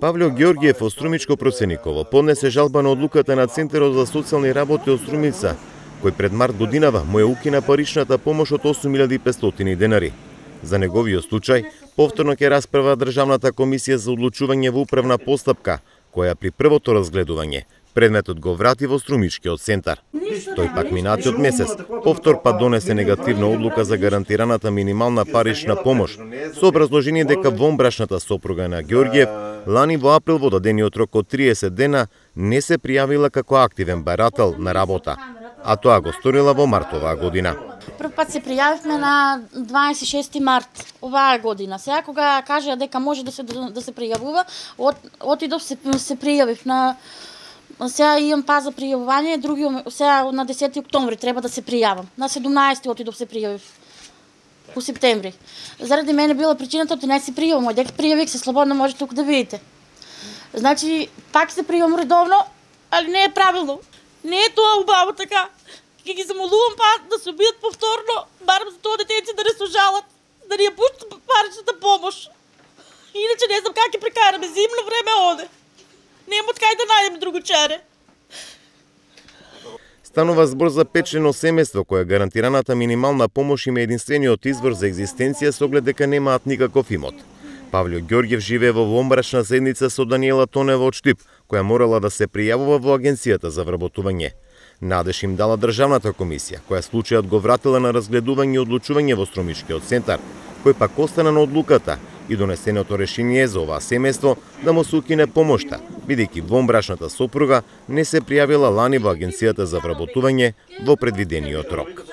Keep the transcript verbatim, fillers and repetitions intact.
Павле Ѓорѓиев од Струмичко Процениково поднесе жалба на одлуката на Центарот за социјални работи од Струмица, кој пред март годинава му ја укина паричната помош од осум илјади и петстотини денари. За неговиот случај, повторно ќе расправа Државната комисија за одлучување во управна постапка, која при првото разгледување предметот го врати во Струмичкиот центар. Тој пак минатиот месец повтор па донесе негативна одлука за гарантираната минимална парична помош, со образложение дека вонбрашната сопруга на Ѓорѓиев лани во април во дадениот рок од триесет дена не се пријавила како активен барател на работа, а тоа го сторила во март оваа година. Прв пат се пријавивме на дваесет и шести март оваа година. Сега кога кажа дека може да се да се пријавува, от, отидов се се пријавив на сега имам паз за пријавување, други сега на десети октомври треба да се пријавам. На седумнаесети отидов се пријавив. По септември. Заради мене била причината да не се пријавам, мој дека пријавих се слободно може тук да видите. Значи пак се пријавам редовно, али не е правилно. Не е тоа убаво така. Ке ги замолувам па да се обидат повторно, барам за тоа детенци да не се жалат, да ни ја пуштат паричната помош. Иначе не знам как ќе прекараме зимно време оде. Нема од кај да најдем друго чаре. Станува збор за петчлено семејство кое гарантираната минимална помош има единствениот извор за екзистенција со оглед дека немаат никаков имот. Павле Ѓорѓиев живее во вонбрашна заедница со Даниела Тонева од Штип, која морала да се пријавува во Агенцијата за вработување. Надеж им дала Државната комисија, која случајот го вратила на разгледување и одлучување во Струмичкиот центар, кој пак остана на одлуката и донесеното решение за оваа семејство да му се укине помошта, бидејќи вонбрашната сопруга не се пријавила лани во Агенцијата за вработување во предвидениот рок.